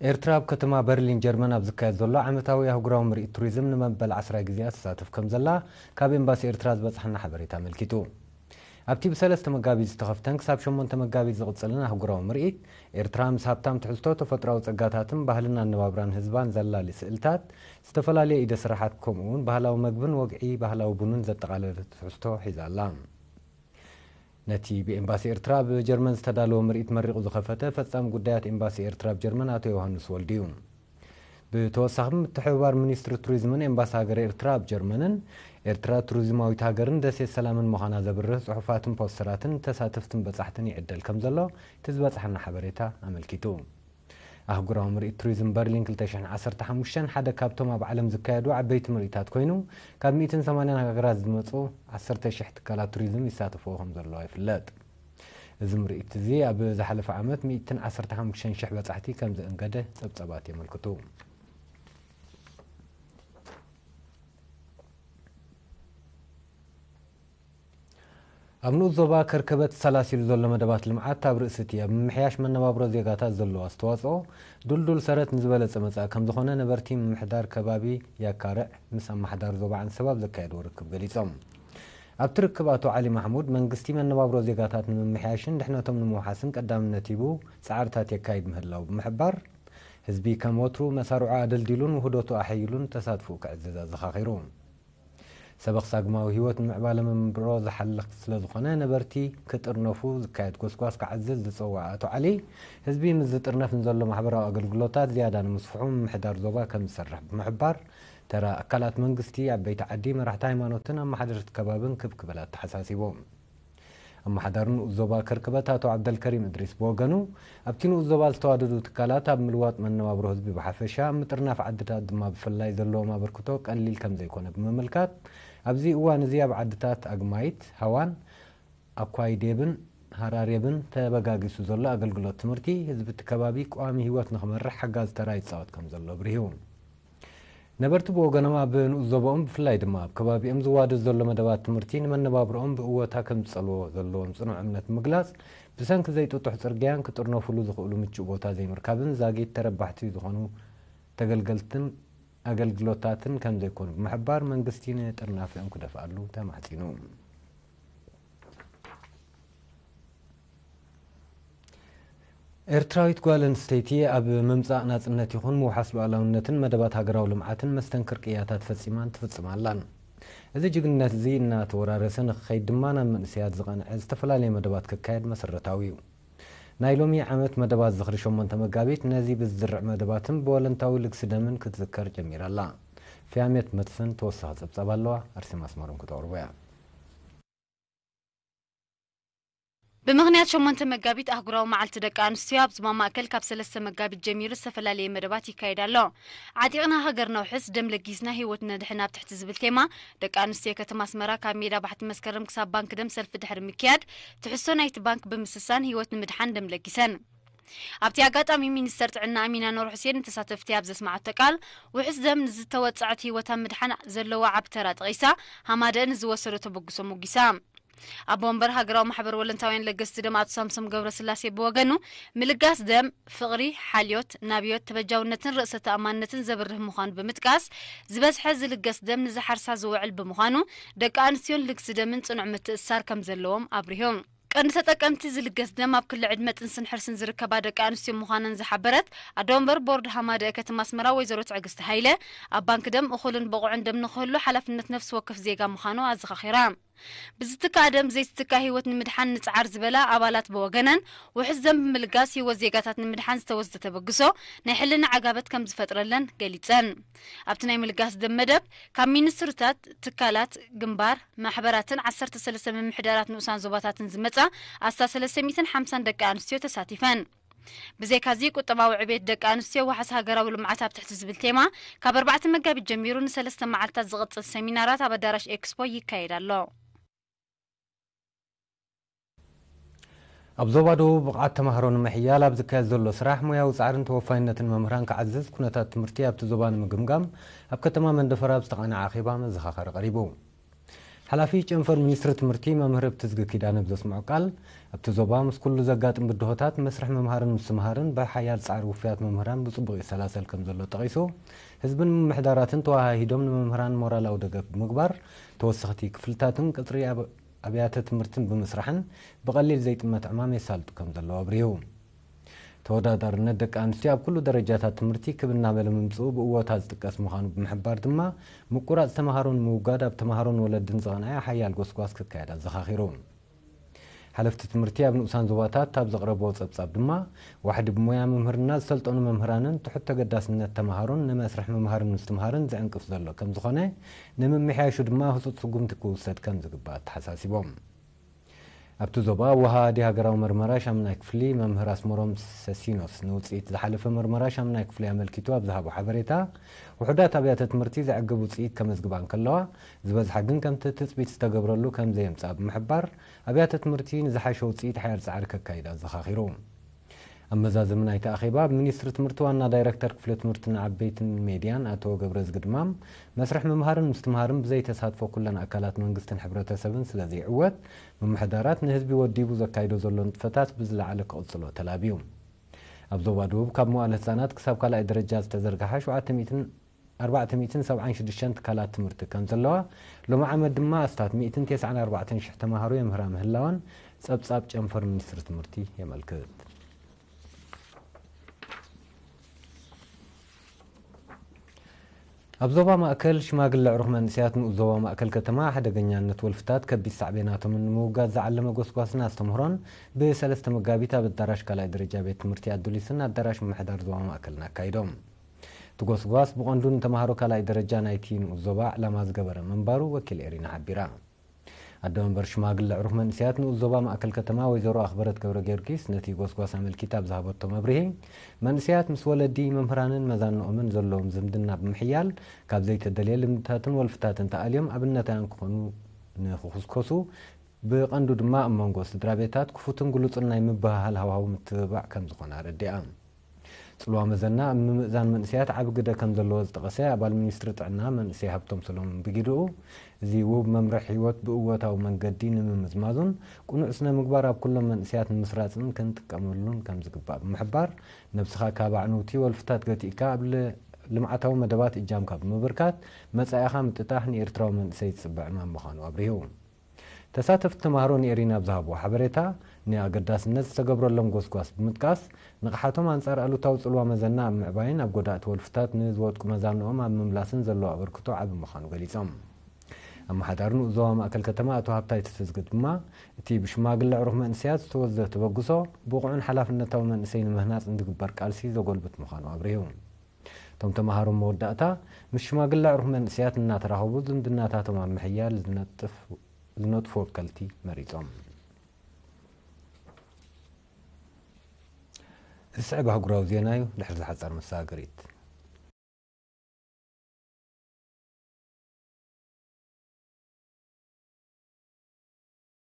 ኤርትራ ኣብ ከተማ በርሊን ጀርመን ኣብ ዝካየድ ዘሎ ዓመታዊ ኣህጉራዊ ምርኢት ቱሪዝም ንመበል ዓስራይ ግዜኣ ትሳተፍ ከም ዘላ ካብ ኤምባሲ ኤርትራ ዝበጽሓና ሓበሬታ ኣመልኪቱ። ኣብቲ ብሰለስተ መጋቢት ዝተኸፍተን ክሳብ ሸሞንተ መጋቢት ዝቕጽልን ኣህጉራዊ ምርኢት፣ ኤርትራ ምስ ሃብታም ትሕዝቶ ተፈጥሮኣዊ ጸጋታትን ባህልን ኣነባብራን ህዝባን ዘላሊ ስእልታት፣ ዝተፈላለየ ኢደ ስራሓት፣ ከምኡ እውን ባህላዊ መግብን ወግዒ ባህላዊ ቡንን ዘጠቓለለ ትሕዝቶ ሒዛ ኣላ። ነቲ ብኤምባሲ ኤርትራ ኣብ ጀርመን ዝተዳለወ ምርኢት መሪቑ ዝኸፈተ ፈጻሚ ጉዳያት ኤምባሲ ኤርትራ ኣብ ጀርመን ኣቶ ዮሃንስ ወልዱ እዩ። ብተወሳኺ፣ ምትሕብባር ሚኒስትሪ ቱሪዝምን ኤምባሲ ሃገረ ኤርትራ ኣብ ጀርመንን ኤርትራ ቱሪዝማዊት ሃገርን ደሴት ሰላምን ምዃና ዘብርህ ጽሑፋትን ፖስተራትን ተሳተፍትን በጻሕትን ይዕደል ከም ዘሎ እቲ ዝበጽሓና ሓበሬታ ኣመልኪቱ። ኣህጉራዊ ምርኢት ቱሪዝም በርሊን ክልተ ሽሕን ዓሰርተ ሓሙሽተን ሓደ ካብቶም ኣብ ዓለም ዝካየዱ ዓበይቲ ምርኢታት ኮይኑ፣ ካብ ሚእትን ሰማንያን ሃገራት ዝመጹ ዓሰርተ ሽሕ ትካላት ቱሪዝም ይሳተፍዎ ከም ዘለዋ ይፍለጥ። እዚ ምርኢት እዚ ኣብ ዝሓለፈ ዓመት ሚእትን ዓሰርተ ሓሙሽተን ሽሕ በጻሕቲ ከም ዘእንገደ ጸብጻባት የመልክቱ። ኣብ ንኡስ ዞባ ከርከበት ተሰላሲሉ ዘሎ መደባት ልምዓት ኣብ ርእሲ እቲ ኣብ ምምሕያሽ መነባብሮ ዜጋታት ዘለዎ ኣስተዋጽኦ፣ ድልዱል ሰረት ንዝበለጸ መጻኢ ከም ዝኾነ ነበርቲ ምምሕዳር ከባቢ ያካርዕ ምስ ኣመሓዳሪ ዞባ ዓንሰባ ኣብ ዘካየድዎ ርክብ ገሊጾም። ኣብቲ ርክብ ኣቶ ዓሊ ማሕሙድ፣ መንግስቲ መነባብሮ ዜጋታት ንምምሕያሽን ድሕነቶም ንምውሓስን ቀዳምነት ሂቡ ጻዕርታት የካይድ ምህላው ብምሕባር፣ ህዝቢ ከም ወትሩ መሳርዑ ኣደልዲሉን ውህደቱ ኣሐይሉን ተሳትፎኡ ከዕዝዝ ኣዘኻኺሩ። ሰበኽ ሳግማዊ ህይወት ንምዕባለ መንብሮ ዝሓልኽ ስለ ዝኾነ፣ ነበርቲ ክጥርነፉ ዝካየድ ጎስጓስ ክዓዝዝ ዝጸውዐ ኣቶ ዓሊ፣ ህዝቢ ምስ ዝጥርነፍ ንዘሎ ማሕበራዊ ኣገልግሎታት ዝያዳ ንምስፍሑ ምምሕዳር ዞባ ከም ዝሰርሕ ብምሕባር፣ ተራ ኣካላት መንግስቲ፣ ዓበይቲ ዓዲ፣ መራሕቲ ሃይማኖትን ኣመሓደርቲ ከባብን ክብ ክብል ኣተሓሳሲቡ። ኣመሓዳሪ ንኡስ ዞባ ከርከበት ኣቶ ዓብደልከሪም እድሪስ ብወገኑ፣ ኣብቲ ንኡስ ዞባ ዝተዋደዱ ትካላት ኣብ ምልዋጥ መነባብሮ ህዝቢ ብሓፈሻ፣ ኣብ ምጥርናፍ ዓድታት ድማ ብፍላይ ዘለዎም ኣበርክቶ ቀሊል ከም ዘይኮነ ብምምልካት፣ ኣብዚ እዋን እዚ ኣብ ዓድታት ኣግማይት፣ ሃዋን፣ ኣኳይዴብን ሃራሬብን ተበጋጊሱ ዘሎ ኣገልግሎት ትምህርቲ፣ ህዝቢ እቲ ከባቢ ቀዋሚ ህይወት ንኽመርሕ ሓጋዚ ተራ ይጻወት ከም ዘሎ ኣብሪሁ። ነበርቲ ብወገኖም፣ ኣብ ንኡስ ዞባኦም ብፍላይ ድማ ኣብ ከባቢኦም ዝዋደድ ዘሎ መደባት ትምህርቲ ንመነባብሮኦም ብእወታ ከም ዝጸልዎ ዘለዎም ጽኑዕ እምነት ብምግላጽ፣ ብሰንኪ ዘይጥጡሕ ጽርግያን ክጥርነፉሉ ዝኽእሉ ምቹእ ቦታ ዘይምርካብን ዛጊት ተረባሕቲ ዝኾኑ ተገልገልትን ኣገልግሎታትን ከም ዘይኮኑ ብምሕባር፣ መንግስቲ ንጥርናፊኦም ክደፍኣሉ ተማሕጺኑ። ኤርትራዊት ጓል ኣንስተይቲ ኣብ ምምጻእ ናጽነት ይኹን ምውሓስ ሉዓላውነትን መደባት ሃገራዊ ልምዓትን መስተንክር ቅያታት ፈጺማን ትፍጽም ኣላን። እዚ ጅግንነት እዚ እናተወራረሰ ንክኸይድ ድማ፣ ናብ መንእሰያት ዝቐንዐ ዝተፈላለየ መደባት ክካየድ መሰረታዊ እዩ። ናይ ሎሚ ዓመት መደባት ዝኽሪ ሸሞንተ መጋቢት፣ ነዚ ብዝዝርዕ መደባትን ብወለንታዊ ልግሲ ደምን ክትዝከር ጀሚራ ኣላ። ፍያሜት መስፍን ተወሳኺ ጸብጻብ ኣለዋ፣ ኣርሴማ ኣስመሮም ክተቕርቦ እያ። ብምኽንያት ሸሞንተ መጋቢት ኣህጉራዊ መዓልቲ ደቂ ኣንስትዮ፣ ኣብ ዞባ ማእከል ካብ ሰለስተ መጋቢት ጀሚሩ ዝተፈላለየ መደባት ይካየድ ኣሎ። ዓጢቕና ሃገርና ውሕስ፣ ደም ለጊስና ህይወት ነድሕን ኣብ ትሕቲ ዝብል ቴማ፣ ደቂ ኣንስትዮ ከተማ ኣስመራ ካብ ሜዳ ባሕቲ መስከረም ክሳብ ባንክ ደም ሰልፊ ድሕሪ ምክያድ፣ ትሕዝቶ ናይቲ ባንክ ብምስሳን ህይወት ንምድሓን ደም ለጊሰን። ኣብቲ ኣጋጣሚ፣ ሚኒስተር ጥዕና ኣሚና ኑር ሑሴን ንተሳተፍቲ ኣብ ዘስምዓቶ ቃል፣ ውሕስ ደም ንዝተወጽዐት ህይወት ኣብ ምድሓን ዘለዎ ዓቢ ተራ ጠቒሳ፣ ሃማደአ ንዝወሰዶ ተበግሶ ሞጊሳ። ኣቦ ወንበር ሃገራዊ ማሕበር ወለንታውያን ለገስቲ ደም ኣቶ ሳምሶም ገብረስላሴ ብወገኑ፣ ምልጋስ ደም፣ ፍቕሪ፣ ሓልዮት፣ ናብዮት፣ ተበጃውነትን ርእሰ ተኣማንነትን ዘብርህ ምዃኑ ብምጥቃስ፣ ዝበዝሐ ዝልገስ ደም ንዝሓርሳ ዝውዕል ብምዃኑ፣ ደቂ ኣንስትዮን ልግሲ ደምን ጽኑዕ ምትእስሳር ከም ዘለዎም ኣብሪሁ። ቀንዲ ተጠቀምቲ ዝልገስ ደም ኣብ ክሊ ዕድመ ጥንስን ሕርስን ዝርከባ ደቂ ኣንስትዮ ምዃነን ዝሓበረት ኣዶ ወንበር ቦርድ ሃማደአ ከተማ ኣስመራ ወይዘሮ ትዕግስቲ ሃይለ፣ ኣብ ባንክ ደም እኹልን ብቑዕን ደም ንኽህሉ ሓላፍነት ነፍሲ ወከፍ ዜጋ ምዃኑ ኣዘኻኺራ። ብዝትካእ ደም ዘይትትካእ ህይወት ንምድሓን ንጽዓር ዝበላ ኣባላት ብወገነን፣ ውሕስ ደም ብምልጋስ ህይወት ዜጋታት ንምድሓን ዝተወስደ ተበግሶ ናይ ሕልና ዓጋበት ከም ዝፈጥረለን ገሊጸን። ኣብቲ ናይ ምልጋስ ደም መደብ፣ ካብ ሚኒስትሪታት፣ ትካላት፣ ግንባር፣ ማሕበራትን ዓሰርተ ሰለስተ ምምሕዳራት ንኡሳን ዞባታትን ዝመጻ ኣስታት ሰለስተ ሚእትን ሓምሳን ደቂ ኣንስትዮ ተሳቲፈን። ብዘይካዚ፣ ቁጠባዊ ዕቤት ደቂ ኣንስትዮ ዋሕስ ሃገራዊ ልምዓት ኣብ ትሕቲ ዝብል ቴማ፣ ካብ ኣርባዕተ መጋቢት ጀሚሩ ንሰለስተ መዓልታት ዝቕጽል ሰሚናራት ኣብ ኣዳራሽ ኤክስፖ ይካየድ ኣሎ። ኣብ ዞባ ደቡብ ብቕዓት ተማሃሮ ንምሕያል ኣብ ዝካየድ ዘሎ ስራሕ፣ ሞያዊ ጻዕርን ተወፋይነትን መምህራን ክዓዝዝ፣ ኩነታት ትምህርቲ ኣብቲ ዞባ ንምግምጋም ኣብ ከተማ መንደፈራ ኣብ ዝተቓነዐ ኣኼባ መዘኻኸሪ ቀሪቡ። ሓላፊ ጨንፈር ሚኒስትሪ ትምህርቲ መምህር እብትዝጊ ኪዳነ ብዘስምዖ ቃል፣ ኣብቲ ዞባ ምስ ኩሉ ዘጋጥም ብድሆታት መስርሕ ምምሃርን ምስትምሃርን ብሓያል ጻዕሪ ውፉያት መምህራን ብጽቡቕ ይሰላሰል ከም ዘሎ ጠቒሱ፣ ህዝብን ምምሕዳራትን ተወሃሂዶም ንመምህራን ሞራላዊ ደገፍ ብምግባር፣ ተወሰኽቲ ክፍልታትን ቅጽሪ ኣብ-፣ ኣብያተ ትምህርትን ብምስራሕን ብቐሊል ዘይጥመት ዕማም የሳልጡ ከም ዘለዉ ኣብሪሁ። ተወዳዳርነት ደቂ ኣንስትዮ ኣብ ኩሉ ደረጃታት ትምህርቲ ክብ እናበለ ምምጽኡ ብእወታ ዝጥቀስ ምዃኑ ብምሕባር ድማ፣ ምቁራጽ ተምሃሮ ንምውጋድ ኣብ ተምሃሮን ወለድን ዝቐንዐ ሓያል ጎስጓስ ክካየድ ኣዘኻኺሩ። ሓለፍቲ ትምህርቲ ኣብ ንኡሳን ዞባታት ኣብ ዘቕረብዎ ጸብጻብ ድማ፣ ዋሕዲ ብሞያ ምምህርና ዝሰልጠኑ መምህራንን ትሑት ተገዳስነት ተምሃሮን ንመስርሕ ምምሃርን ምስትምሃርን ዝዕንቅፍ ዘሎ ከም ዝኾነ፣ ንምምሕያሹ ድማ ህጹጽ ስጉምቲ ክውሰድ ከም ዝግባእ ኣተሓሳሲቦም። ኣብቲ ዞባ ወሃዲ ሃገራዊ መርመራ ሻምናይ ክፍሊ መምህር ኣስመሮም ሰሲኖስ ንውጽኢት ዝሓለፈ መርመራ ሻምናይ ክፍሊ ኣመልኪቱ ኣብ ዝሃቦ ሓበሬታ፣ ውሑዳት ኣብያተ ትምህርቲ ዘዕግብ ውጽኢት ከመዝግባ እንከለዋ፣ ዝበዝሓ ግን ከምቲ ትጽቢት ዝተገብረሉ ከም ዘየምጽኣ ብምሕባር፣ ኣብያተ ትምህርቲ ንዝሓሸ ውጽኢት ሓያል ጻዕሪ ከካይዳ ኣዘኻኺሩ። ኣብ መዛዘሚ ናይቲ ኣኼባ፣ ብሚኒስትሪ ትምህርቲ ዋና ዳይረክተር ክፍሊ ትምህርትን ዓበይትን ሜድያን ኣቶ ገብረዝጊ ድማም፣ መስርሕ ምምሃርን ምስትምሃርን ብዘይተሳትፎ ኩለን ኣካላት መንግስትን ሕብረተሰብን ስለ ዘይዕወት፣ ምምሕዳራት ንህዝቢ ወዲቡ ዘካይዶ ዘሎ ንጥፈታት ብዝለዓለ ክቕጽሎ ተላብዩ። ኣብ ዞባ ደቡብ ካብ መዋእለ ህጻናት ክሳብ ካልኣይ ደረጃ ዝተዘርግሓ ሸውዓተ ሚእትን ኣርባዕተ ሚእትን ሰብዓን ሽዱሽተን ትካላት ትምህርቲ ከም ዘለዋ፣ ሎሚ ዓመት ድማ ኣስታት ሚእትን ተስዓን ኣርባዕተን ሽሕ ተምሃሮ የምህራ ምህላወን ጸብጻብ ጨንፈር ሚኒስትሪ ትምህርቲ የመልክት። ኣብ ዞባ ማእከል ሽማግለ ዕሩኽ መንእሰያት ንኡስ ዞባ ማእከል ከተማ ሓደገኛነት ወልፍታት ከቢድ ሳዕቤናቶምን ንምውጋድ ዝዓለመ ጎስጓስን ኣስተምህሮን ብሰለስተ መጋቢት ኣብ ኣዳራሽ ካልኣይ ደረጃ ቤት ትምህርቲ ኣዱሊስን ኣዳራሽ ምምሕዳር ዞባ ማእከልን ኣካይዶም። እቲ ጎስጓስ ብቐንዱ ንተምሃሮ ካልኣይ ደረጃ ናይቲ ንኡስ ዞባ ዕላማ ዝገበረ ምንባሩ ወኪል ኤሪና ሓቢራ። ኣደ መንበር ሽማግለ ዕሩኽ መንእሰያት ንኡስ ዞባ ማእከል ከተማ ወይዘሮ ኣኽበረት ገብረ ጊዮርጊስ ነቲ ጎስጓስ ኣመልኪታ ኣብ ዝሃበቶ መብርሂ፣ መንእሰያት ምስ ወለዲ፣ መምህራንን መዛንኦምን ዘለዎም ዝምድና ብምሕያል፣ ካብ ዘይተደልየ ልምድታትን ወልፍታትን ተኣልዮም ኣብነታውያን ክኾኑ ንኽኹስኮሱ፣ ብቐንዱ ድማ ኣብ መንጎ ስድራ ቤታት ክፉትን ግሉጽን ናይ ምብህሃል ሃዋህው ምትብባዕ ከም ዝኾነ ኣረዲኣ። ጽልዋ መዘና ኣብ ምምእዛን መንእሰያት ዓቢ ግደ ከም ዘለዎ ዝጠቐሰ ኣባል ሚኒስትሪ ጥዕና መንእሰይ ሃብቶም ሰሎሞን ብጊድኡ፣ እዚ ውብ መምርሒ ህይወት ብእወታዊ መንገዲ ንምምዝማዙን ቅኑዕ ስነ ምግባር ኣብ ኩሎም መንእሰያት ንምስራጽን ክንጥቀመሉን ከም ዝግባእ ብምሕባር፣ ነብስኻ ካብ ኣዕንውቲ ወልፍታት ገቲእካ ኣብ ል-፣ ልምዓታዊ መደባት እጃምካ ብምብርካት፣ መጻኢኻ ምጥጣሕ ንኤርትራዊ መንእሰይ ዝጽበ ዕማም ምዃኑ ኣብሪሁ። ተሳተፍቲ ተምሃሮ ንኤሪና ኣብ ዝሃብዎ ሓበሬታ፣ ንኣገዳስነት ዝተገብረሎም ጎስጓስ ብምጥቃስ፣ ንቕሓቶም ኣንጻር ኣሉታዊ ጽልዋ መዘና ኣብ ምዕባይን ኣብ ጎዳእቲ ወልፍታት ንዝወድቁ መዛንኦም ኣብ ምምላስን ዘለዎ ኣበርክቶ ዓቢ ምዃኑ ገሊጾም። ኣመሓዳሪ ንኡስ ዞባ ማእከል ከተማ ኣቶ ሃብታይ ተስፍዝጊ ድማ፣ እቲ ብሽማግለ ዕሩኽ መንእሰያት ዝተወስደ ተበግሶ፣ ብቑዕን ሓላፍነታዊ መንእሰይ ንምህናጽ ንዝግበር ቃልሲ ዘጎልብት ምዃኑ ኣብሪሁ። እቶም ተምሃሮ መወዳእታ ምስ ሽማግለ ዕሩኽ መንእሰያት እናተራኸቡ ዝምድናታቶም ኣብ ምሕያል ዝነጥፍ-፣ ዝነጥፉ ወከልቲ መሪጾም። ዝስዕብ ኣህጉራዊ ዜና እዩ፣ ድሕሪ ዝሓጸር መሰጋገሪት።